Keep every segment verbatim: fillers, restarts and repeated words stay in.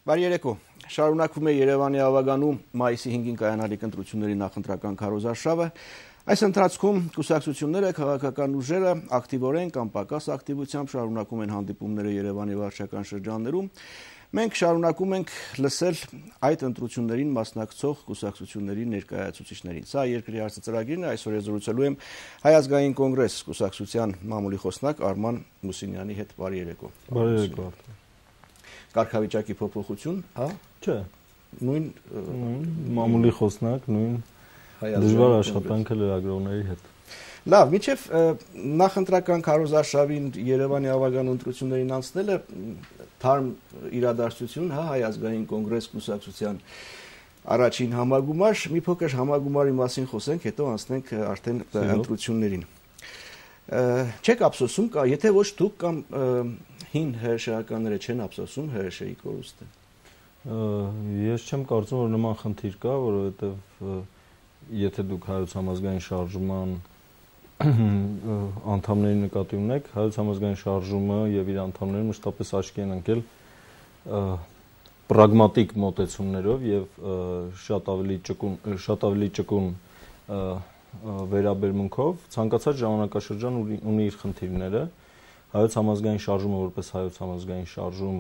Բարի երեկո։ Շարունակվում է Երևանի ավագանում մայիսի հինգին կայանալիք ընտրությունների նախընտրական քարոզարշավը։ Այս ընթացքում կուսակցությունները, քաղաքական ուժերը ակտիվորեն կամ պակաս ակտիվությամբ շարունակում են հանդիպումները Երևանի վարչական շրջաններում։ Մենք շարունակում ենք լսել այդ ընտրություններին մասնակցող կուսակցությունների ներկայացուցիչներին։ Սա երկրի հարցը ծրագիրն է, այսօր զրուցելու եմ Հայ ազգային կոնգրես կուսակցության մամուլի խոսնակ Արման Մուսինյանի հետ։ Բարի երեկո։ Բարի երեկո։ Կարգավիճակի փոփոխություն, հա? Չէ։ Նույն մամուլի խոսնակ, նույն դժվար աշխատանքը լրագրողների հետ։ Լավ, միջև նախընտրական քարոզարշավին Երևանի ավագան ընտրություններին անցնելը թարմ իրադարձություն, հա, Հայ ազգային կոնգրես կուսակցության առաջին համագումար, մի փոքր համագումարի մասին խոսենք, հետո անցնենք արդեն ընտրություններին։ Չեք ափսոսում, եթե ոչ դուք կամ հին հրաշականները չեն ափսոսում հրաշեի կորուստը։ Ես չեմ կարծում, որ նման խնդիր կա, որովհետև եթե դուք Հայոց համազգային շարժման անդամների նկատի ունեք, Հայոց համազգային շարժումը եւ իր անդամները մշտապես աչքի են ընկել պրագմատիկ մոտեցումներով եւ շատ ավելի ճկուն, շատ ավելի ճկուն վերաբերմունքով, ցանկացած ժամանակաշրջան ունի իր խնդիրները։ Հայոց համազգային շարժումը որպես Հայոց համազգային շարժում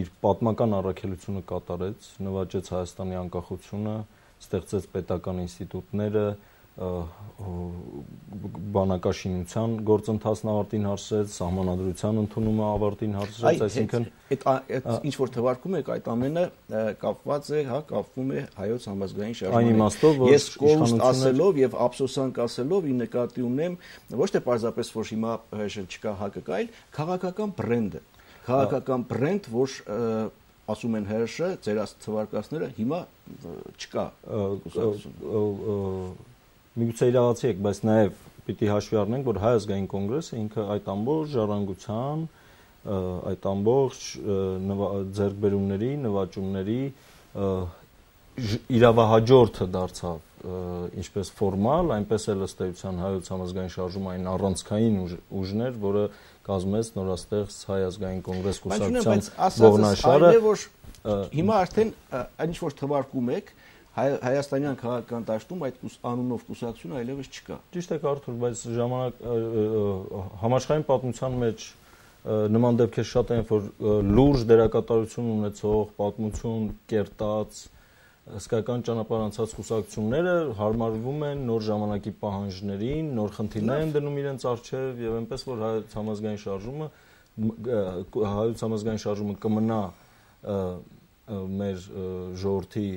իր պատմական առաքելությունը կատարեց, նվաճեց Հայաստանի անկախությունը, ստեղծեց պետական ինստիտուտները, բանակաշինության գործընթացն ավարտին հասցրեց, սահմանադրության ընդունումը ավարտին հասցրեց, այսինքն այդ ինչ որ թվարկում եք, այդ ամենը կապված է, հա, կապվում է Հայոց համազգային շարժման։ Այն իմաստով, որ ես կորուստ ասելով եւ ափսոսանք ասելով ի նկատի ունեմ ոչ թե պարզապես որ հիմա չկա հակը կա, այլ քաղաքական բրենդը, քաղաքական բրենդ, որ ասում են հրշը, ձեր թվարկածները հիմա չկա կուսակցություն։ Միգուցե իրավացի եք, բայց նաև պիտի հաշվի առնենք, որ Հայ ազգային կոնգրեսը ինքը այդ ամբողջ ժառանգության, այդ ամբողջ ձեռքբերումների, նվաճումների իրավահաջորդը դարձավ ինչպես ֆորմալ, այնպես էլ ըստ էության Հայոց համազգային շարժումը այն առանցքային ուժներ, որը կազմեց նորաստեղծ Հայ ազգային կոնգրես կուսակցության ողնաշարը։ Հիմա արդեն այն ինչ որ թվարկում եք, Հայաստանյան քաղաքական դաշտում այդ անունով կուսակցությունը այլևս չկա։ Ճիշտ է, Արթուր, բայց ժամանակ համաշխարհային պատմության մեջ նման դեպքեր շատ են, որ լուրջ դերակատարություն ունեցող, պատմություն կերտած, հսկայական ճանապարհ անցած կուսակցությունները հարմարվում են նոր ժամանակի պահանջներին, նոր խնդիրներ են դնում իրենց առջև եւ այնպես որ Հայոց համազգային շարժումը Հայոց համազգային շարժումը կմնա մեր ժողովրդի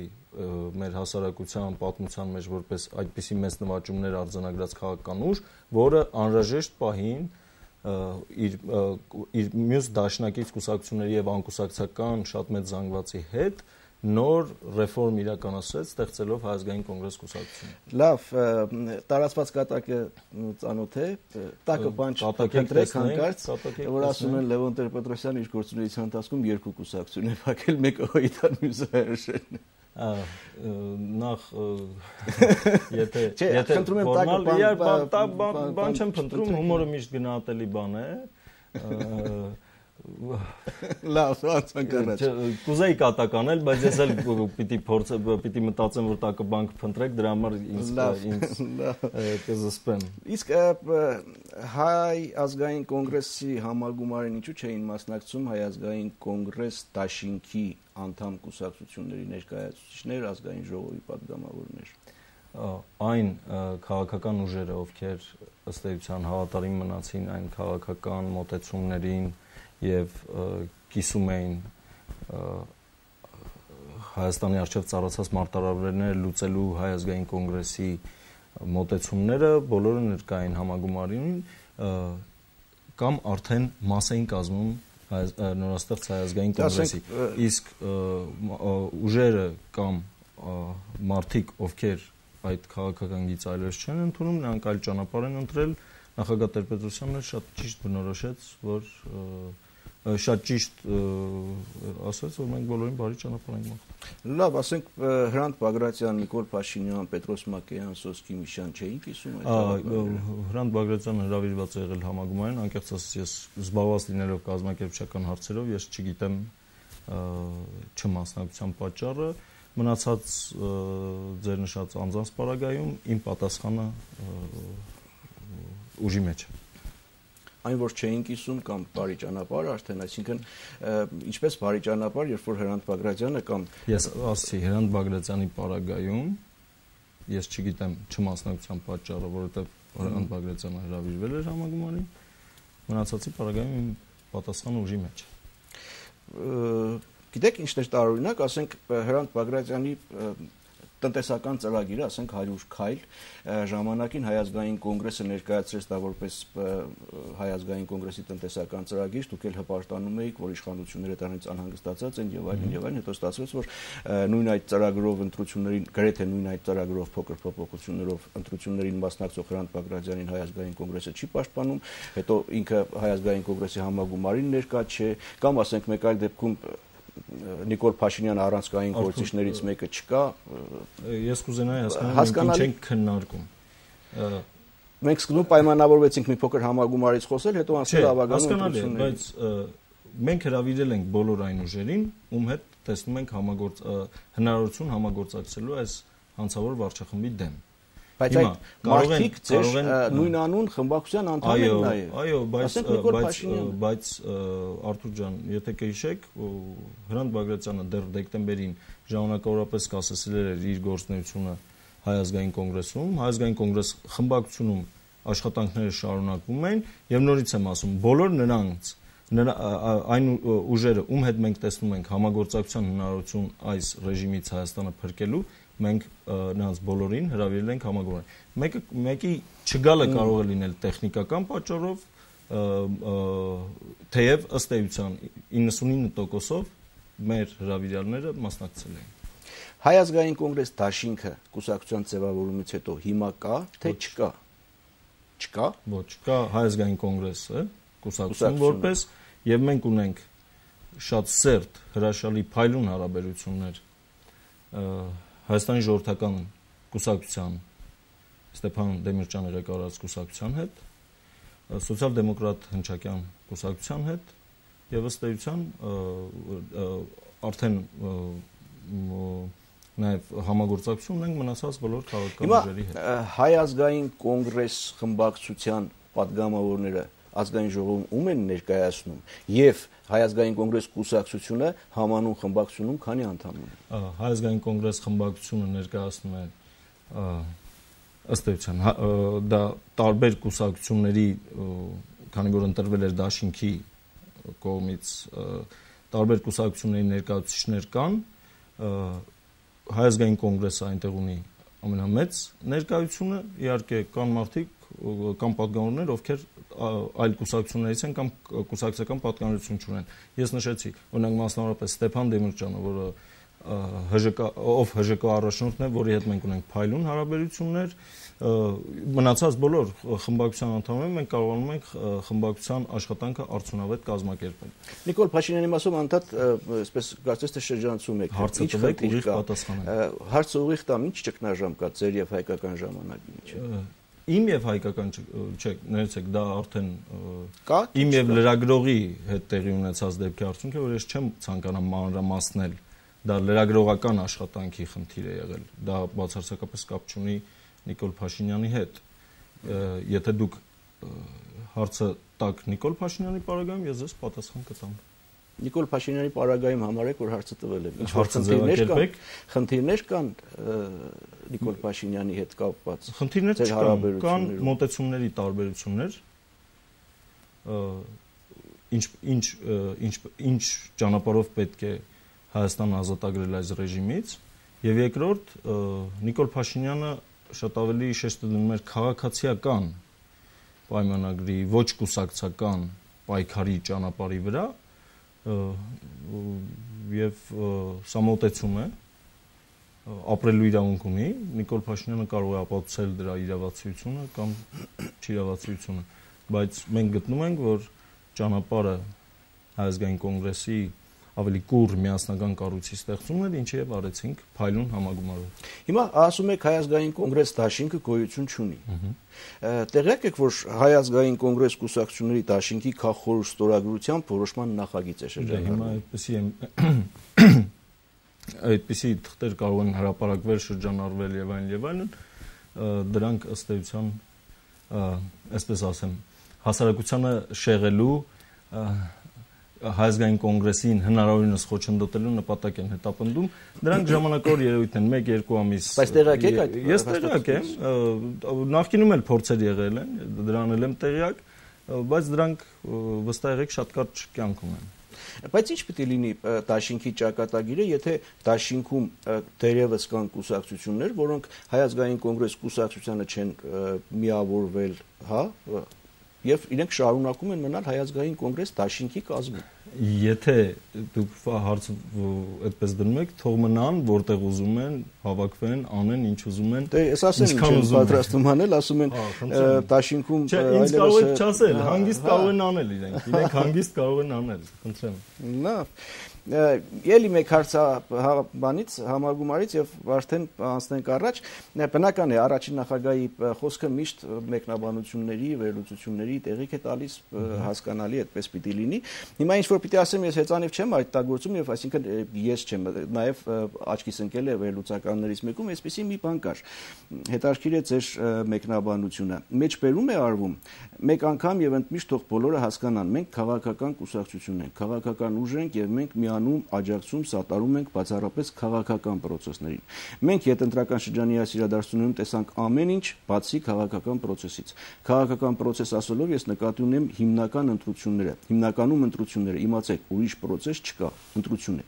մեր հասարակության պատմության մեջ որպես այդպիսի մեծ նվաճումներ արձանագրած քաղաքական ուժ, որը անհրաժեշտ պահին իր իր մյուս դաշնակից կուսակցությունների եւ անկուսակցական շատ մեծ զանգվածի հետ նոր ռեֆորմ իրականացրեց, ստեղծելով Հայ ազգային կոնգրես կուսակցություն։ Լավ, տարածված կատակը ծանոթ է, տակը բան չփնտրեք հանկարծ, որ ասում են Լևոն Տեր-Պետրոսյանը իր գործունեության ընթացքում երկու կուսակցություն է փակել, մեկը Հոյիթան, մյուսը Հրշեն։ Նախ եթե եթե ֆորմալ բան չեմ փնտրում, հումորը միշտ գնահատելի բան է։ Լավ, ոնց կռած։ Կուզեի կատականել, բայց ես էլ պիտի փորձ պիտի մտածեմ, որ տակը բանկ փնտրեք, դրա համար ինձ ինձ կզսպեմ։ Իսկ Հայ ազգային կոնգրեսի համագումարին ինչու չէին մասնակցում Հայ ազգային կոնգրես դաշինքի անդամ կուսակցությունների ներկայացուցիչներ, ազգային ժողովի պատգամավորներ։ Այն քաղաքական ուժերը, ովքեր ըստ էության հավատարիմ մնացին այն քաղաքական մոտեցումներին եւ կիսում էին Հայաստանի արչեւ ծառացած մարտահրավերները լուծելու Հայ ազգային կոնգրեսի մոտեցումները, բոլորը ներկային համագումարին կամ արդեն մաս էին կազմում նորաստեղծ Հայ ազգային կոնգրեսի, իսկ ուժերը կամ մարդիկ, ովքեր այդ քաղաքական գիծը այլևս չեն ընդունում, նրանք այլ ճանապարհ են ընտրել, նախագահ Տեր-Պետրոսյանն շատ ճիշտ բնորոշեց, որ շատ ճիշտ ասաց, որ մենք բոլորին բարի ճանապարհ ենք մաղթում։ Լավ, ասենք Հրանտ Բագրատյան, Նիկոլ Փաշինյան, Պետրոս Մակեյան, Սոսկի Միշյան չէին կիսում այդ։ Հրանտ Բագրատյանը հրավիրված է եղել համագումարին, անկեղծ ասած ես զբաղված լինելով կազմակերպչական հարցերով, ես չգիտեմ չմասնակցության պատճառը, մնացած ձեր նշած անձանց պարագայում իմ պատասխանը ուժի մեջ է։ Այն որ չէին կիսում կամ բարի ճանապարհ, արդեն, այսինքն ինչպես բարի ճանապարհ, երբ որ Հրանտ Բագրատյանը կամ ես ասացի Հրանտ Բագրատյանի պարագայում ես չգիտեմ չմասնակցության պատճառը, որովհետև Հրանտ Բագրատյանը հրավիրվել էր համագումարին, մնացածի պարագայում իմ պատասխանը ուժի մեջ է։ Գիտեք ինչն էր տարօրինակ, ասենք Հրանտ Բագրատյանի տնտեսական ծրագիրը, ասենք հարյուր քայլ, ժամանակին Հայ ազգային կոնգրեսը ներկայացրեց դա որպես Հայ ազգային կոնգրեսի տնտեսական ծրագիր, դուք էլ հպարտանում էիք, որ իշխանությունները դրանից անհանգստացած են եւ այլն եւ այլն, հետո ստացվեց, որ նույն այդ ծրագրով ընտրություններին, գրեթե նույն այդ ծրագրով փոքր փոփոխություններով ընտրություններին մասնակցող Հրանտ Բագրատյանին Հայ ազգային կոնգրեսը չի պաշտպանում, հետո ինքը Հայ ազգային կոնգրեսի համագումարին ներկա չէ, կամ ասենք մեկ այլ դեպքում Նիկոլ Փաշինյանը առանցքային գործիչներից մեկը չկա։ Ես կուզենայի հասկանալ, ինչ ենք քննարկում։ Մենք սկզբում պայմանավորվեցինք մի փոքր համագումարից խոսել, հետո անցել ավագանում ընտրություններին։ Բայց մենք հրավիրել ենք բոլոր այն ուժերին, ում հետ տեսնում ենք համագործ հնարավորություն համագործակցելու այս հանցավոր վարչախմբի դեմ։ Բայց այդ մարդիկ ձեր նույնանուն խմբակցության անդամ են նաև։ Այո, բայց բայց բայց Արթուր ջան, եթե կհիշեք, Հրանտ Բագրատյանը դեռ դեկտեմբերին ժամանակավորապես կասեցել էր իր գործունեությունը Հայ ազգային կոնգրեսում, Հայ ազգային կոնգրես խմբակցությունում աշխատանքները շարունակվում են եւ նորից եմ ասում, բոլոր նրանց այն ուժերը, ում հետ մենք տեսնում ենք համագործակցության հնարավորություն այս ռեժիմից Հայաստանը փրկելու, մենք նրանց բոլորին հրավիրել ենք համագումարին։ Մեկը մեկի չգալը կարող է լինել տեխնիկական պատճառով, թեև ըստ էության իննսունինը տոկոսով մեր հրավիրյալները մասնակցել են։ Հայ ազգային կոնգրես դաշինքը կուսակցության ձևավորումից հետո հիմա կա, թե չկա։ Չկա։ Ոչ, կա Հայ ազգային կոնգրեսը, կուսակցություն որպես, եւ մենք ունենք շատ սերտ հրաշալի փայլուն հարաբերություններ Հայաստանի ժողովրդական կուսակցության Ստեփան Դեմիրճյանի ղեկավարած կուսակցության հետ, սոցիալ-դեմոկրատ հնչակյան կուսակցության հետ եւ ըստ էության արդեն նաեւ համագործակցություն ունենք մնացած բոլոր քաղաքական ուժերի հետ։ Հայ ազգային կոնգրես խմբակցության падգամավորները ազգային ժողովում ում են ներկայացնում եւ Հայ ազգային կոնգրես կուսակցությունը համանուն խմբակցությունում քանի անդամ ունի։ Հայ ազգային կոնգրես խմբակցությունը ներկայացնում է ըստ էության դա տարբեր կուսակցությունների, քանի որ ընտրվել էր դաշինքի կողմից, տարբեր կուսակցությունների ներկայացուցիչներ կան, Հայ ազգային կոնգրեսը այնտեղ ունի ամենամեծ ներկայությունը, իհարկե կան մարդիկ կամ падգամավորներ, ովքեր այլ կուսակցություններից են կամ կուսակցական պատկանելություն չունեն։ Ես նշեցի, օրինակ մասնավորապես Ստեփան Դեմիրճյանը, որը ՀԺԿ ով ՀԺԿ առաջնորդն է, որի հետ մենք ունենք փայլուն հարաբերություններ, մնացած բոլոր խմբակցության անդամները մենք կարողանում ենք խմբակցության աշխատանքը արդյունավետ կազմակերպել։ Նիկոլ Փաշինյանի մասով անդադ, այսպես կարծես թե շրջանցում եք։ Հարցը տվեք, ուղիղ պատասխանեմ։ Հարցը ուղիղ տամ, ինչ ճգնաժամ կա ձեր եւ հայկական ժամանակի միջեւ։ Իմ եւ հայկական չէ, ներեցեք, դա արդեն իմ եւ լրագրողի հետ տեղի ունեցած դեպքի արդյունք է, որ ես չեմ ցանկանա մանրամասնել, դա լրագրողական աշխատանքի խնդիր է եղել, դա բացարձակապես կապ չունի Նիկոլ Փաշինյանի հետ։ Եթե դուք հարցը տաք Նիկոլ Փաշինյանի պարագայում, ես ձեզ պատասխան կտամ։ Նիկոլ Փաշինյանի պարագայում համարեք, որ հարցը տվել է։ Ինչ հարցը ձևակերպեք։ Խնդիրներ կան Նիկոլ Փաշինյանի հետ կապված։ Խնդիրներ չկան, կան մոտեցումների տարբերություններ։ Ինչ ինչ ինչ ինչ ճանապարհով պետք է Հայաստանը ազատագրել այս ռեժիմից, եւ երկրորդ Նիկոլ Փաշինյանը շատ ավելի շեշտ դնում էր քաղաքացիական պայմանագրի, ոչ կուսակցական պայքարի ճանապարհի վրա, եւ սա մոտեցում է ապրելու իրավունք ունի, Նիկոլ Փաշինյանը կարող է ապացուցել դրա իրավացիությունը կամ չիրավացիությունը, բայց մենք գտնում ենք, որ ճանապարհը Հայ ազգային կոնգրեսի ավելի կուր միասնական կառույցի ստեղծումն էր, ինչը եւ արեցինք փայլուն համագումարով։ Հիմա ասում եք Հայ ազգային կոնգրես դաշինքը գոյություն չունի։ Տեղյակ եք, որ Հայ ազգային կոնգրես կուսակցությունների դաշինքի քաղաքորոշ ստորագրությամբ որոշման նախագիծ է շրջանառվել։ Հիմա այդպեսի եմ այդպիսի թղթեր կարող են հրապարակվել, շրջանառվել եւ այլն եւ այլն, դրանք ըստ էության, այսպես ասեմ, հասարակությանը շեղելու Հայ ազգային կոնգրեսին հնարավորինս խոչընդոտելու նպատակ են հետապնդում, դրանք ժամանակավոր երևույթ են, մեկ-երկու ամիս։ Բայց տեղյակ եք այդ։ Ես տեղյակ եմ, նախկինում էլ փորձեր եղել են, դրան էլ եմ տեղյակ, բայց դրանք վստահ եղեք շատ կարճ կյանքում են։ Բայց ինչ պետք է լինի դաշինքի ճակատագիրը, եթե դաշինքում դերևս կան կուսակցություններ, որոնք Հայ ազգային կոնգրես կուսակցությանը չեն միավորվել, հա, եւ իրենք շարունակում են մնալ Հայ ազգային կոնգրես դաշինքի կազմում։ Եթե դուք հարցը այդպես դնում եք, թող մնան, որտեղ ուզում են, հավաքվեն, անեն ինչ ուզում են։ Դե ես ասեմ, ինչ պատրաստում անել, ասում են դաշինքում այլևս։ Ինձ կարող եք չասել, հանգիստ կարող են անել իրենք, իրենք հանգիստ կարող են անել, խնդրեմ։ Լավ։ Ելի մեկ հարց բանից համագումարից եւ արդեն անցնենք առաջ, բնական է առաջին նախագահի խոսքը միշտ մեկնաբանությունների, վերլուծությունների տեղիք է տալիս, հասկանալի այդպես պիտի լինի։ Հիմա ինչ որ պիտի ասեմ, ես հեծանիվ չեմ այդ տագործում եւ այսինքն ես չեմ, նաեւ աչքիս ընկել է վերլուծականներից մեկում, այսպեսի մի բան կար։ Հետաքրքիր է ձեր մեկնաբանությունը։ Մեջբերում է արվում մեկ անգամ եւ ընդմիշտ թող բոլորը հասկանան, մենք քաղաքական կուսակցություն ենք, քաղաքական ուժ ենք եւ մենք միանում, աջակցում, սատարում ենք բացառապես քաղաքական process-ներին։ Մենք յետընտրական շրջանի այս իրադարձություններում տեսանք ամեն ինչ, բացի քաղաքական process-ից։ Քաղաքական process ասելով ես նկատի ունեմ հիմնական ընտրությունները։ Հիմնականում ընտրությունները, իմացեք, ուրիշ process չկա, ընտրություն է։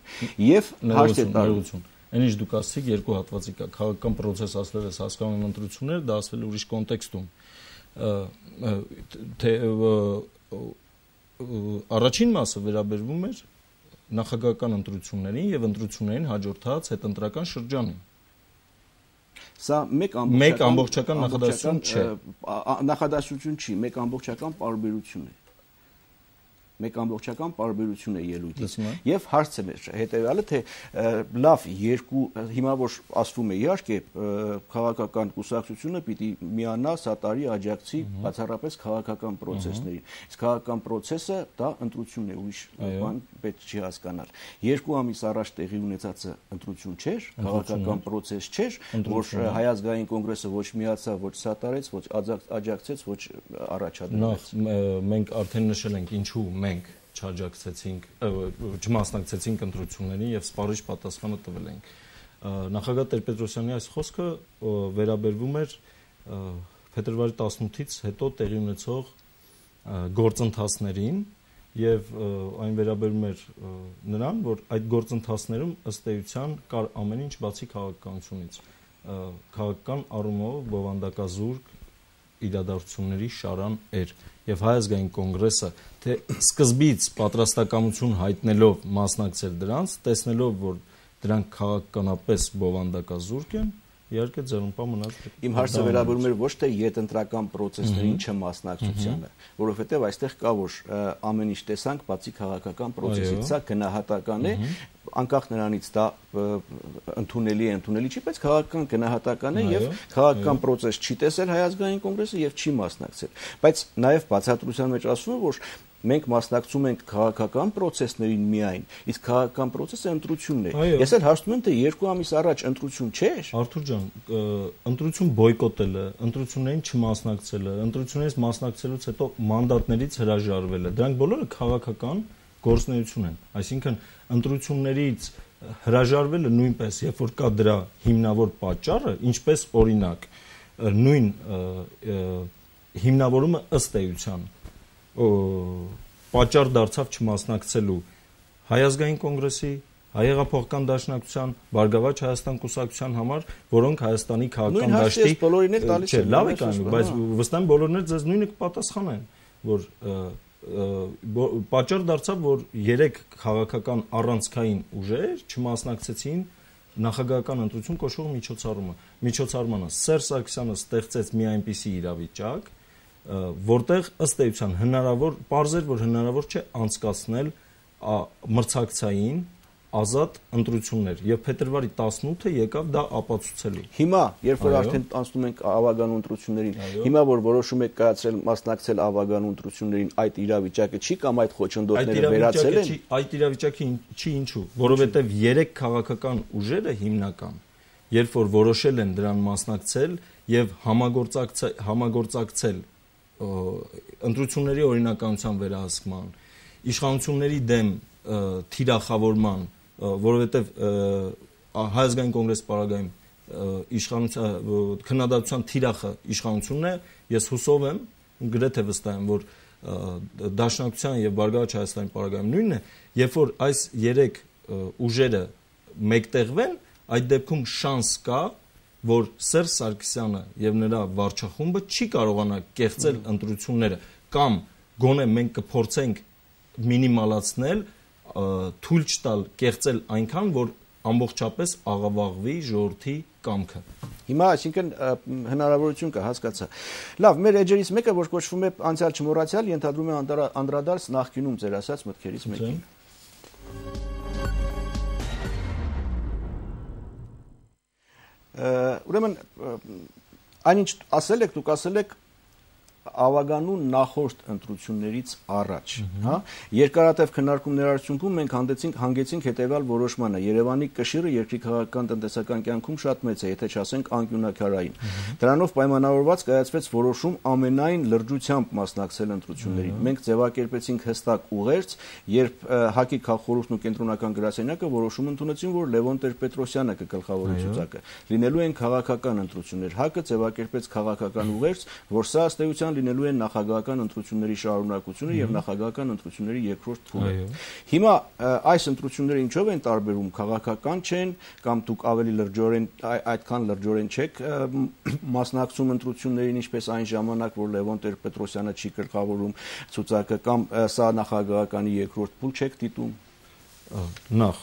Եւ հաշտ է տարվում։ Այնինչ դուք ասացիք երկու հատվածի կա, քաղաքական process ասել ես հասկանում եմ ընտրություններ, դա ասվել ուրիշ կոնտեքստում։ Թե առաջին մասը վերաբերվում էր նախագահական ընտրություններին եւ ընտրություններին հաջորդած հետընտրական շրջանին։ Սա մեկ ամբողջական նախադասություն չէ։ Նախադասություն չի, մեկ ամբողջական պարբերություն է։ Մեկ ամբողջական պարբերություն է ելույթից։ Եվ հարցը մեր հետեւյալը, թե լավ երկու հիմա որ ասվում է իհարկե քաղաքական կուսակցությունը պիտի միանա, սատարի, աջակցի բացառապես քաղաքական process-ներին։ Իսկ քաղաքական process-ը դա ընտրությունն է, ուրիշ բան պետք չի հասկանալ։ Երկու ամիս առաջ տեղի ունեցածը ընտրություն չէր, քաղաքական process չէր, որ Հայ ազգային կոնգրեսը ոչ միացավ, ոչ սատարեց, ոչ աջակցեց, ոչ առաջադրեց։ Նախ մենք արդեն նշել ենք ինչու մենք չաջակցեցինք, չմասնակցեցինք ընտրություններին եւ սպառիչ պատասխանը տվել ենք։ Նախագահ Տեր-Պետրոսյանի այս խոսքը վերաբերվում էր փետրվարի տասնութից հետո տեղի ունեցող գործընթացներին եւ այն վերաբերում էր նրան, որ այդ գործընթացներում ըստ էության կար ամեն ինչ բացի քաղաքականությունից։ Քաղաքական առումով բովանդակազուրկ իրադարձությունների շարան էր եւ Հայ ազգային կոնգրեսը թե սկզբից պատրաստակամություն հայտնելով մասնակցել դրանց, տեսնելով որ դրանք քաղաքականապես բովանդակազուրկ են, իհարկե ձեռնպա մնաց։ Իմ հարցը վերաբերում էր ոչ թե յետընտրական process-ներին չմասնակցությանը, որովհետեւ այստեղ կա որ ամեն ինչ տեսանք բացի քաղաքական process-ից, սա գնահատական է, անկախ նրանից դա ընդունելի է, ընդունելի չի, բայց քաղաքական գնահատական է եւ քաղաքական process չի տեսել Հայ ազգային կոնգրեսը եւ չի մասնակցել։ Բայց նաեւ բացատրության մեջ ասվում է որ մենք մասնակցում ենք քաղաքական process-ներին միայն, իսկ քաղաքական process-ը ընտրությունն է։ Ես էլ հարցնում եմ թե երկու ամիս առաջ ընտրություն չէր։ Արթուր ջան, ընտրություն բոյկոտելը, ընտրություններին չմասնակցելը, ընտրություններից մասնակցելուց հետո մանդատներից հրաժարվելը, դրանք բոլորը քաղաքական գործունեություն են։ Այսինքն ընտրություններից հրաժարվելը նույնպես, երբ որ կա դրա հիմնավոր պատճառը, ինչպես օրինակ նույն հիմնավորումը ըստ էության պատճառ դարձավ չմասնակցելու Հայ ազգային կոնգրեսի, Հայ հեղափոխական դաշնակցության, Բարգավաճ Հայաստան կուսակցության համար, որոնք Հայաստանի քաղաքական դաշտի բոլորին էլ տալիս են։ Լավ է կանում, բայց վստահ եմ բոլորն էլ ձեզ նույնը կպատասխանեն, որ պատճառ դարձավ, որ երեք քաղաքական առանցքային ուժեր չմասնակցեցին նախագահական ընտրություն կոչվող միջոցառումը։ Միջոցառմանը Սերժ Սարգսյանը ստեղծեց մի այնպիսի իրավիճակ, որտեղ ըստ էության հնարավոր, պարզ էր, որ հնարավոր չէ անցկացնել մրցակցային ազատ ընտրություններ եւ փետրվարի տասնութը եկավ դա ապացուցելու։ Հիմա, երբ որ արդեն անցնում ենք ավագանու ընտրություններին, հիմա որ որոշում եք կայացրել մասնակցել ավագանու ընտրություններին, այդ իրավիճակը չի կամ այդ խոչընդոտները վերացել են։ Այդ իրավիճակը չի ինչու, որովհետեւ երեք քաղաքական ուժերը հիմնական, երբ որ որոշել են դրան մասնակցել եւ համագործակցել համագործակցել ընտրությունների օրինականության վերահսկման, իշխանությունների դեմ թիրախավորման, որովհետև Հայ ազգային կոնգրեսի պարագայում իշխանության քննադատության թիրախը իշխանությունն է, ես հուսով եմ, գրեթե վստահ եմ, որ Դաշնակցության եւ Բարգավաճ Հայաստանի պարագայում նույնն է, երբ որ այս երեք ուժերը մեկտեղվեն, այդ դեպքում շանս կա, որ Սերժ Սարգսյանը եւ նրա վարչախումբը չի կարողանա կեղծել ընտրությունները կամ գոնե մենք կփորձենք մինիմալացնել, թույլ չտալ կեղծել այնքան, որ ամբողջապես աղավաղվի ժողովրդի կամքը։ Հիմա այսինքն հնարավորություն կա, հասկացա։ Լավ, մեր էջերից մեկը, որ կոչվում է անցյալ չմոռացյալ, ենթադրում է անդրադարձ նախկինում ձեր ասած մտքերից մեկին։ Ուրեմն այնինչ ասել եք, դուք ասել եք ավագանու նախորդ ընտրություններից առաջ, հա, երկարատև քննարկումների արդյունքում մենք հանդեցինք հանգեցինք հետևյալ որոշմանը. Երևանի կշիռը երկրի քաղաքական տնտեսական կյանքում շատ մեծ է, եթե չասենք անկյունաքարային։ Դրանով պայմանավորված կայացվեց որոշում ամենայն լրջությամբ մասնակցել ընտրություններին։ Մենք ձևակերպեցինք հստակ ուղերձ, երբ ՀԱԿ-ի քաղխորհուրդն ու կենտրոնական գրասենյակը որոշում ընդունեցին, որ Լևոն Տեր-Պետրոսյանը կգլխավորի ցուցակը։ Լինելու են քաղաքական ընտրություններ։ ՀԱԿ-ը ձևակերպեց քաղաքական ուղերձ, որ սա ըստ էության լինելու են նախագահական ընտրությունների շարունակությունը եւ նախագահական ընտրությունների երկրորդ փուլը։ Հիմա այս ընտրությունները ինչով են տարբերում, քաղաքական չեն կամ դուք ավելի լրջորեն այդքան լրջորեն չեք մասնակցում ընտրություններին, ինչպես այն ժամանակ, որ Լևոն Տեր-Պետրոսյանը չի գլխավորում ցուցակը, կամ սա նախագահականի երկրորդ փուլ չեք դիտում։ Նախ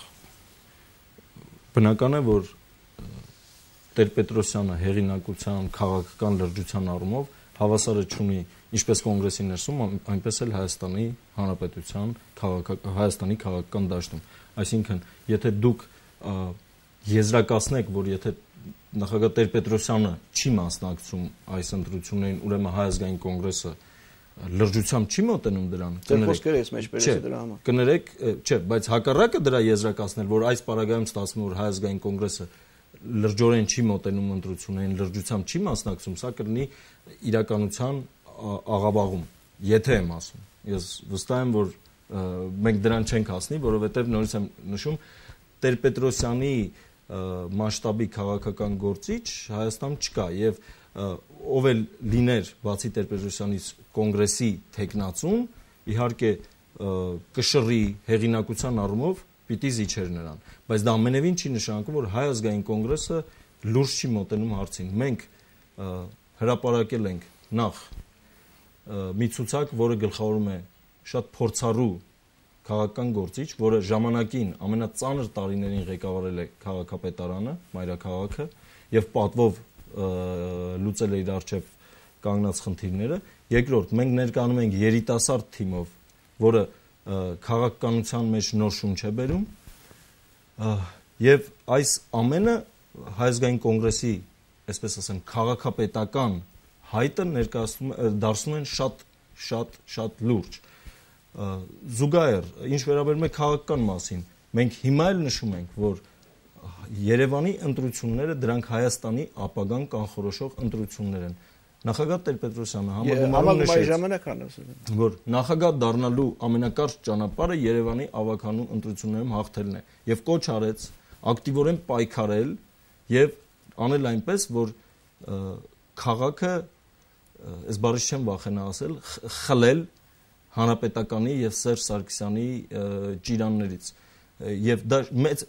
բնական է, որ Տեր-Պետրոսյանը հեղինակության քաղաքական լրջության առումով հավասարը չունի ինչպես կոնգրեսի ներսում, այնպես էլ Հայաստանի Հանրապետության Հայաստանի քաղաքական դաշտում։ Այսինքն, եթե դուք եզրակացնեք, որ եթե նախագահ Տեր-Պետրոսյանը չի մասնակցում այս ընտրություններին, ուրեմն Հայ ազգային կոնգրեսը լրջությամբ չի մոտենում դրան, կներեք, չէ, բայց հակառակը դրա եզրակացնել, որ այս պարագայում ստացվում է, որ Հայ ազգային կոնգրեսը լրջորեն չի մոտենում ընտրություններին, լրջությամբ չի մասնակցում, սա կլինի իրականության աղավաղում, եթե եմ ասում։ Ես վստահ եմ, որ մենք դրան չենք հասնի, որովհետև նորից եմ նշում, Տեր-Պետրոսյանի մասշտաբի քաղաքական գործիչ Հայաստանում չկա եւ ով էլ լիներ բացի Տեր-Պետրոսյանից կոնգրեսի թեկնածուն, իհարկե կշռի հեղինակության առումով պիտի զիջեր նրան, բայց դա ամենևին չի նշանակում, որ Հայ ազգային կոնգրեսը լուրջ չի մոտենում հարցին։ Մենք հրապարակել ենք նախ մի ցուցակ, որը գլխավորում է շատ փորձառու քաղաքական գործիչ, որը ժամանակին ամենածանր տարիներին ղեկավարել է քաղաքապետարանը, մայրաքաղաքը, եւ պատվով լուծել է իր առջև կանգնած խնդիրները։ Երկրորդ, մենք ներկայանում ենք երիտասարդ թիմով, որը քաղաքականության մեջ նոր շունչ է բերում, եւ այս ամենը Հայ ազգային կոնգրեսի, այսպես ասեմ, քաղաքապետական հայտը ներկայացնում դարձնում են շատ շատ շատ լուրջ։ Զուգահեռ, ինչ վերաբերում է քաղաքական մասին, մենք հիմա էլ նշում ենք, որ Երևանի ընտրությունները դրանք Հայաստանի ապագան կանխորոշող ընտրություններ են։ Նախագահ Տեր-Պետրոսյանը համագումարում նշեց, որ նախագահ դառնալու ամենակարճ ճանապարհը Երևանի ավագանու ընտրություններում հաղթելն է եւ կոչ արեց ակտիվորեն պայքարել եւ անել այնպես, որ քաղաքը, այս բառը չեմ վախենա ասել, խլել հանրապետականի եւ Սերժ Սարգսյանի ճիրաններից եւ դա մեծ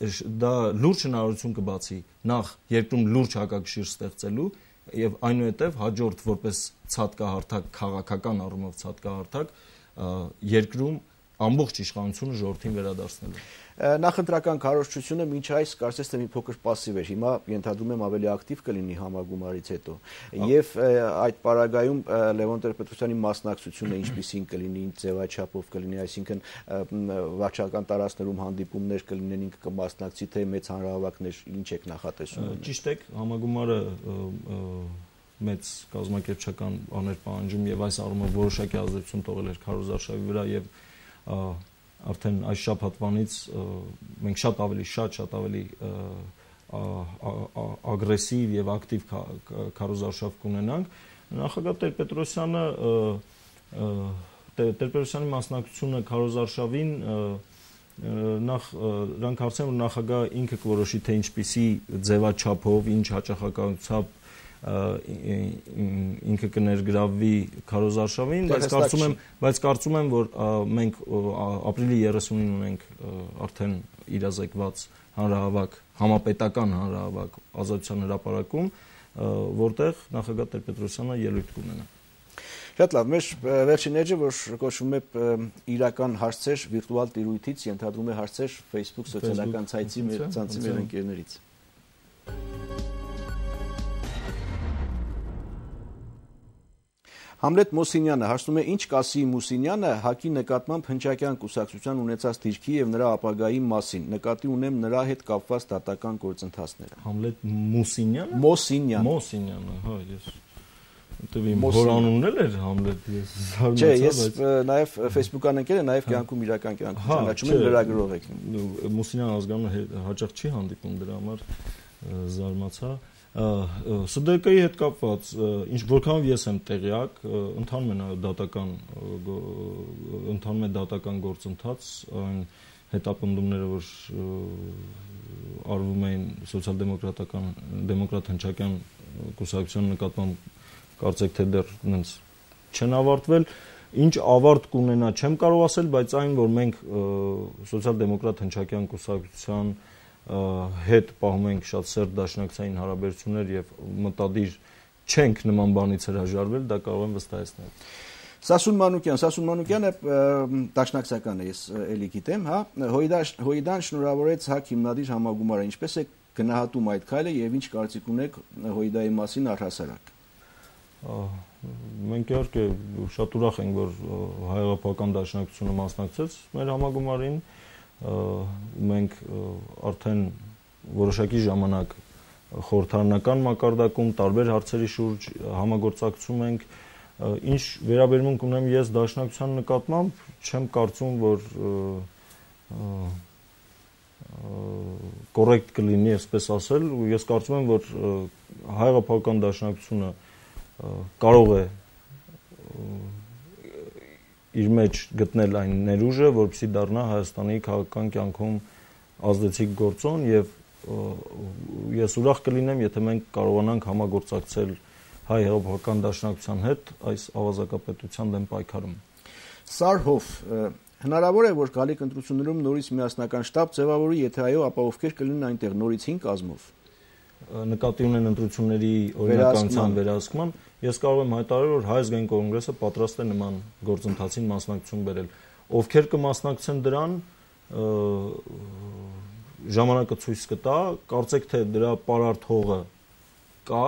դա լուրջ հնարավորություն կբացի նախ երկրում լուրջ հակակշիռ ստեղծելու եւ այնուհետեւ հաջորդ որպես ցածկահարթակ քաղաքական առումով ցածկահարթակ երկրում ամբողջ իշխանությունը ժողովրդին վերադարձնելու։ Նախընտրական քարոզչությունը մինչ այս կարծես թե մի փոքր пассив էր, հիմա ենթադրում եմ ավելի ակտիվ կլինի համագումարից հետո։ Եվ այդ պարագայում Լևոն Տեր-Պետրոսյանի մասնակցությունը ինչպիսին կլինի, ինչ ձևաչափով կլինի, այսինքն վարչական տարածքներում հանդիպումներ կլինեն, ինքը կմասնակցի, թե մեծ հանրահավաքներ, ինչ եք նախատեսում։ Ճիշտ եք, համագումարը մեծ կազմակերպչական բաներ պահանջում եւ այս առումով որոշակի ազդեցություն թողել էր քարոզարշավի վրա եւ արդեն այս շաբաթվանից մենք շատ ավելի շատ շատ ավելի ագրեսիվ եւ ակտիվ քարոզարշավ կունենանք։ Նախագահ Տեր-Պետրոսյանը Տեր-Պետրոսյանի մասնակցությունը քարոզարշավին նախ նրանք հարցեն, որ նախագահը ինքը կորոշի, թե ինչպիսի ձևաչափով, ինչ հաճախականությամբ ինքը կներգրավվի քարոզարշավին, բայց կարծում եմ, բայց կարծում եմ, որ մենք ապրիլի երեսունին ունենք արդեն իրազեկված հանրահավաք, համապետական հանրահավաք Ազատության հրապարակում, որտեղ նախագահ Տեր-Պետրոսյանը ելույթ կունենա։ Շատ լավ, մեր վերջին էջը, որ կոչվում է իրական հարցեր վիրտուալ տիրույթից, ենթադրում է հարցեր Facebook սոցիալական ցայցի մեր ցանցի մեր ընկերներից։ Համլետ Մոսինյանը հարցնում է, ինչ կասի Մուսինյանը ՀԱԿ-ի նկատմամբ հնչակյան կուսակցության ունեցած դիրքի եւ նրա ապագայի մասին, նկատի ունեմ նրա հետ կապված դատական գործընթացները։ Համլետ Մուսինյանը։ Մոսինյան։ Մոսինյանը, հա, ես Դեպի հորանունն էր Համլետ, ես զարմացա, բայց Չէ, ես նաեւ Facebook-ան ընկել եմ, նաեւ կյանքում իրական կյանքում ճանաչում եմ, լրագրող եք։ Մուսինյան ազգանունը հաճախ չի հանդիպում, դրա համար զարմացա։ ՍԴԿ-ի հետ կապված, ինչ որքանով ես եմ տեղյակ, ընթանում է նաև դատական ընթանում է դատական գործընթաց, այն հետապնդումները, որ արվում էին սոցիալ-դեմոկրատական դեմոկրատ հնչակյան կուսակցության նկատմամբ, կարծեք թե դեռ նենց չեն ավարտվել, ինչ ավարտ կունենա չեմ կարող ասել, բայց այն, որ մենք սոցիալ-դեմոկրատ հնչակյան կուսակցության հետ պահում ենք շատ սերտ դաշնակցային հարաբերություններ եւ մտադիր չենք նման բանից հրաժարվել, դա կարող եմ վստահեցնել։ Սասուն Մանուկյան, Սասուն Մանուկյանը դաշնակցական է, ես էլի գիտեմ, հա, Հոյդան շնորհավորեց ՀԱԿ հիմնադիր համագումարը, ինչպես է գնահատում այդ քայլը եւ ինչ կարծիք ունեք Հոյդայի մասին առհասարակ։ Մենք իհարկե շատ ուրախ ենք, որ հայ-հեղափոխական դաշնակցությունը մասնակցեց մեր համագումարին։ Մենք արդեն որոշակի ժամանակ խորհրդարանական մակարդակում տարբեր հարցերի շուրջ համագործակցում ենք, ինչ վերաբերմունք ունեմ ես դաշնակցության նկատմամբ, չեմ կարծում, որ կոռեկտ կլինի այսպես ասել, ու ես կարծում եմ, որ հայ-հեղափոխական դաշնակցությունը կարող է իր մեջ գտնել այն ներուժը, որպեսզի դառնա Հայաստանի քաղաքական կյանքում ազդեցիկ գործոն եւ ես ուրախ կլինեմ, եթե մենք կարողանանք համագործակցել հայ-հեղափոխական դաշնակցության հետ այս ավազակապետության դեմ պայքարում։ Սարհով, հնարավոր է, որ գալիք ընտրություններում նորից միասնական շտաբ ձևավորի, եթե այո, ապա ովքեր կլինեն այնտեղ նորից հինգ կազմով։ Նկատի ունեն ընտրությունների օրինականության վերահսկման, ես կարող եմ հայտարարել, որ Հայ ազգային կոնգրեսը պատրաստ է նման գործընթացին մասնակցություն բերել։ Ովքեր կմասնակցեն դրան, ժամանակը ցույց կտա, կարծեք թե դրա պարարտ հողը կա,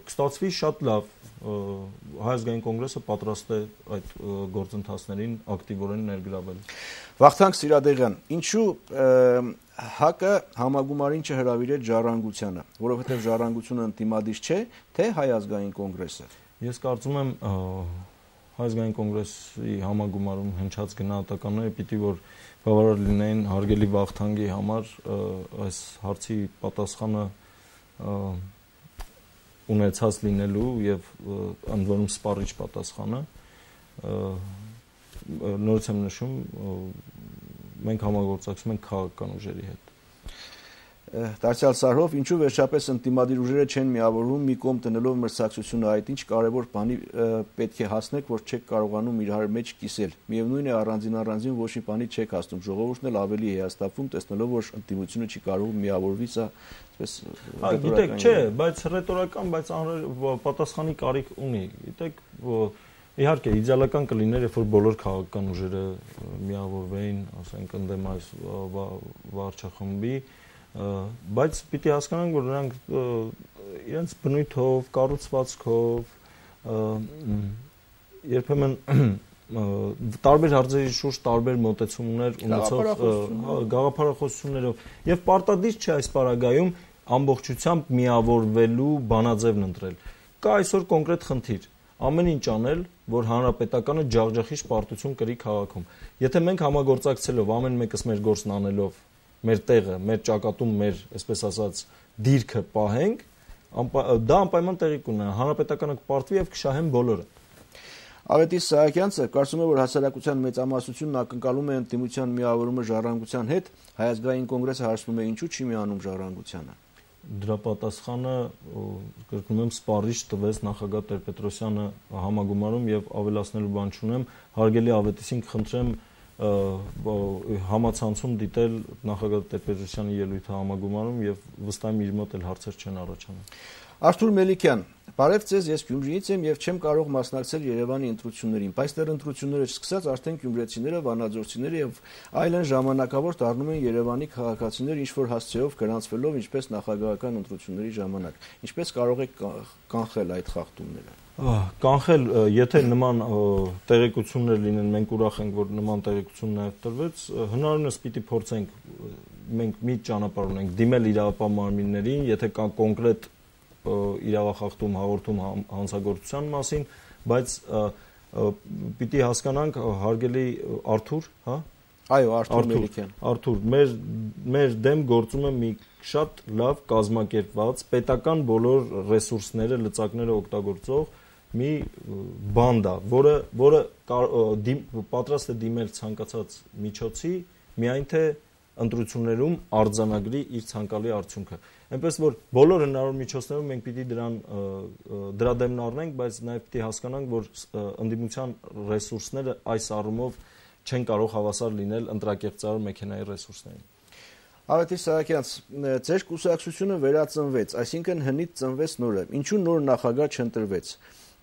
կստացվի շատ լավ, Հայ ազգային կոնգրեսը պատրաստ է այդ գործընթացներին ակտիվորեն ներգրավել։ Վախթանգ Սիրադեղյան, ինչու ՀԱԿ-ը համագումարին չհրավիրեց Ժառանգությանը, որովհետև Ժառանգությունը ընդդիմադիր չէ, թե Հայ ազգային կոնգրեսը։ Ես կարծում եմ Հայ ազգային կոնգրեսի համագումարում հնչած գնահատականները պիտի որ բավարար լինեին հարգելի Վախթանգի համար այս հարցի պատասխանը ունեցած լինելու եւ ընդ որում սպառիչ պատասխանը նորից եմ նշում մենք համագործակցում ենք քաղաքական ուժերի հետ։ Դարձյալ Սարհով, ինչու վերջապես ընդդիմադիր ուժերը չեն միավորվում մի կողմ տնելով մրցակցությունը, այդ ինչ կարևոր բանի պետք է հասնեք, որ չեք կարողանում իրար մեջ կիսել։ Միևնույն է առանձին առանձին ոչ մի բանի չեք հասնում, ժողովուրդն էլ ավելի հիասթափվում, տեսնելով որ ընդդիմությունը չի կարող միավորվի, սա այսպես գիտեք, չէ, բայց ռետորական, բայց պատասխանի կարիք ունի։ Գիտեք, Իհարկե, իդեալական կլիներ, երբ որ բոլոր քաղաքական ուժերը միավորվեին, ասենք, ընդդեմ այս վարչախմբի, բայց պիտի հասկանանք, որ նրանք իրենց բնույթով, կառուցվածքով, երբեմն տարբեր հարցերի շուրջ տարբեր մոտեցումներ ունեցող գաղափարախոսություններով եւ պարտադիր չէ այս պարագայում ամբողջությամբ միավորվելու բանաձևն ընտրել։ Կա այսօր կոնկրետ խնդիր, ամեն ինչ անել, որ հանրապետականը ջախջախիչ պարտություն կրի քաղաքում։ Եթե մենք համագործակցելով ամեն մեկս մեր գործն անելով, մեր տեղը, մեր ճակատում, մեր, այսպես ասած, դիրքը պահենք, դա անպայման տեղի կունենա, հանրապետականը կպարտվի եւ կշահեն բոլորը։ Ավետիս Սահակյանցը կարծում է, որ հասարակության մեծամասնությունն ակնկալում է ընդդիմության միավորումը ժառանգության հետ, Հայազգային կոնգրեսը հարցնում է ինչու չի միանում ժառանգությանը։ Դրա պատասխանը, կրկնում եմ, սպառիչ տվեց նախագահ Տեր-Պետրոսյանը համագումարում եւ ավելացնելու բան չունեմ, հարգելի Ավետիսին կխնդրեմ համացանցում դիտել նախագահ Տեր-Պետրոսյանի ելույթը համագումարում եւ վստահ եմ իր մոտ էլ հարցեր չեն առաջանում։ Արթուր Մելիքյան, բարև ձեզ, ես Գյումրիից եմ եւ չեմ կարող մասնակցել Երևանի ընտրություններին, բայց դեռ ընտրությունները չսկսած արդեն գյումրեցիները, վանաձորցիները եւ այլն ժամանակավոր դառնում են Երևանի քաղաքացիներ ինչ-որ հասցեով գրանցվելով ինչպես նախագահական ընտրությունների ժամանակ։ Ինչպես կարող եք կանխել այդ խախտումները։ Կանխել, եթե նման տեղեկություններ լինեն, մենք ուրախ ենք, որ նման տեղեկություն նաեւ տրվեց, հնարավորինս պիտի փորձենք, մենք մի ճանապարհ ունենք, դիմել իրավապահ մարմիններին, եթե կա կոնկրետ իրավախախտում հաղորդում հանցագործության մասին, բայց պիտի հասկանանք հարգելի Արթուր, հա? Այո, Արթուր Մելիքյան։ Արթուր, մեր մեր դեմ գործում է մի շատ լավ կազմակերպված պետական բոլոր ռեսուրսները, լծակները օգտագործող մի բանդա, որը որը պատրաստ է դիմել ցանկացած միջոցի, միայն թե ընտրություններում արձանագրի իր ցանկալի արդյունքը։ Այնպես որ բոլոր հնարավոր միջոցներով մենք պիտի դրան դրա դեմն առնենք, բայց նաև պիտի հասկանանք, որ ընդդիմության ռեսուրսները այս առումով չեն կարող հավասար լինել ընտրակեղծարար մեքենայի ռեսուրսներին։ Ավետիս Սահակյանց, ձեր կուսակցությունը վերածնվեց, այսինքն հնից ծնվեց նորը։ Ինչու նոր նախագահ չընտրվեց։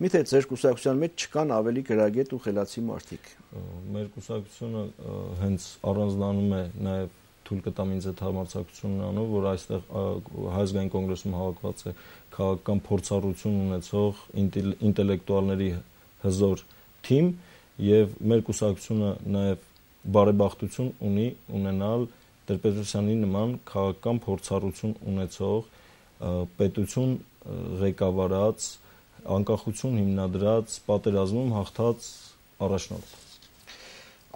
Միթե ձեր կուսակցության մեջ չկան ավելի գրագետ ու խելացի մարդիկ։ Մեր կուսակցությունը հենց առանձնանում է նաև թույլ կտամ ինձ այդ համարձակությունն անով, որ այստեղ Հայազգային կոնգրեսում հավաքված է քաղաքական փորձառություն ունեցող ինտելեկտուալների հզոր թիմ եւ մեր կուսակցությունը նաեւ բարեբախտություն ունի ունենալ Տեր-Պետրոսյանի նման քաղաքական փորձառություն ունեցող պետություն ղեկավարած, անկախություն հիմնադրած, պատերազմում հաղթած առաջնորդ։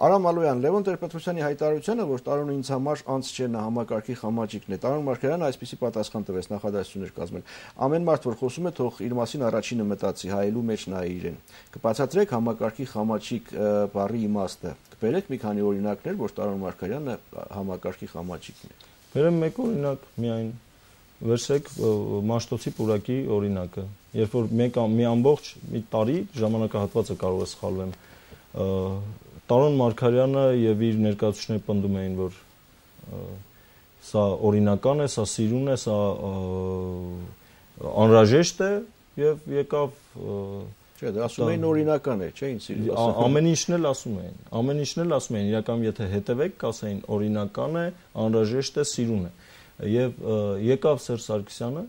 Արամ Ալոյան, Լևոն Տեր-Պետրոսյանի հայտարարությանը, որ Տարոնը ինձ համար անց չէ, նա համակարգի խամաճիկն է, Տարոն Մարգարյանը այսպիսի պատասխան տվեց, նախադասություններ կազմել։ Ամեն մարդ, որ խոսում է, թող իր մասին առաջինը մտածի, հայելու մեջ նայի իրեն։ Կբացատրեք համակարգի խամաճիկ բառի իմաստը։ Կբերեք մի քանի օրինակներ, որ Տարոն Մարգարյանը համակարգի խամաճիկն է։ Բերեմ մեկ օրինակ միայն։ Վերցրեք Մաշտոցի պուրակի օրինակը։ Երբ որ մեկ մի ամբողջ մի տարի ժամանակահատվածը կարող է սխալվեմ, Տարոն Մարգարյանը եւ իր ներկայացուցիչները պնդում էին, որ սա օրինական է, սա սիրուն է, սա անհրաժեշտ է եւ եկավ Չէ, դա ասում էին օրինական է, չէ՞, ինձ սիրուն։ Ամեն ինչն էլ ասում էին, ամեն ինչն էլ ասում էին, իրականում եթե հետևեք, կասեին օրինական է, անհրաժեշտ է, սիրուն է։ Եվ եկավ Սերժ Սարգսյանը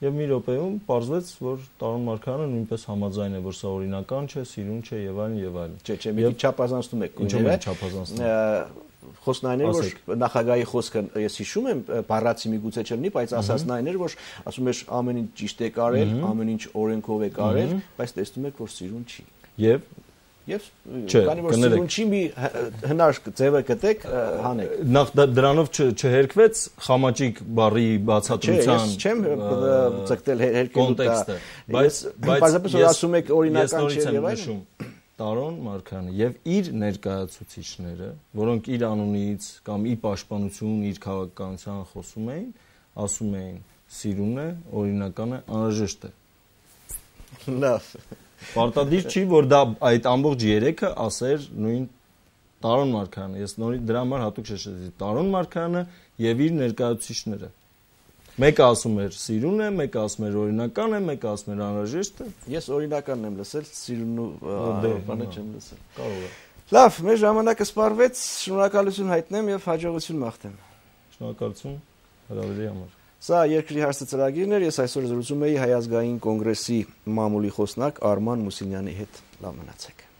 եւ մի րոպեում պարզվեց, որ Տարոն Մարգարյանը նույնպես համաձայն է, որ սա օրինական չէ, սիրուն չէ եւ այլն եւ այլն։ Չէ, չէ, մի քիչ չափազանցնում եք։ Ինչու՞ է չափազանցնում։ Խոսքն այն էր, որ նախագահի խոսքը ես հիշում եմ, բառացի միգուցե չլինի, բայց ասածն այն էր, որ ասում էր ամեն ինչ ճիշտ է կարել, ամեն ինչ օրենքով է կարել, բայց տեսնում եք, որ սիրուն չի։ Եվ Եվ քանի որ սիրուն չի, մի հնար ձևը գտեք, հանեք։ Նախ դրանով չհերկվեց խամաճիկ բառի բացատրության։ Չէ, ես չեմ ցկտել հերկելու կոնտեքստը, բայց բացապես որ ասում եք օրինական չէ եւ այլն։ Տարոն Մարգարյանը եւ իր ներկայացուցիչները, որոնք իր անունից կամ ի պաշտպանություն իր քաղաքականության խոսում էին, ասում էին սիրուն է, օրինական է, անհրաժեշտ է։ Լավ։ Պարտադիր չի, որ դա այդ ամբողջ երեքը ասեր նույն Տարոն Մարգարյանը։ Ես նորից դրա համար հատուկ շեշտեցի Տարոն Մարգարյանը եւ իր ներկայացուցիչները։ Մեկը ասում էր սիրուն է, մեկը ասում էր օրինական է, մեկը ասում էր անհրաժեշտ է։ Ես օրինականն եմ լսել, սիրուն ու բանը չեմ լսել։ Կարող է։ Լավ, մեր ժամանակը սպառվեց, շնորհակալություն հայտնեմ եւ հաջողություն մաղթեմ։ Շնորհակալություն հրավերի համար։ Սա երկրի հարցը ծրագիրն էր, ես այսօր զրուցում էի Հայ ազգային կոնգրեսի մամուլի խոսնակ Արման Մուսինյանի հետ։ Լավ մնացեք։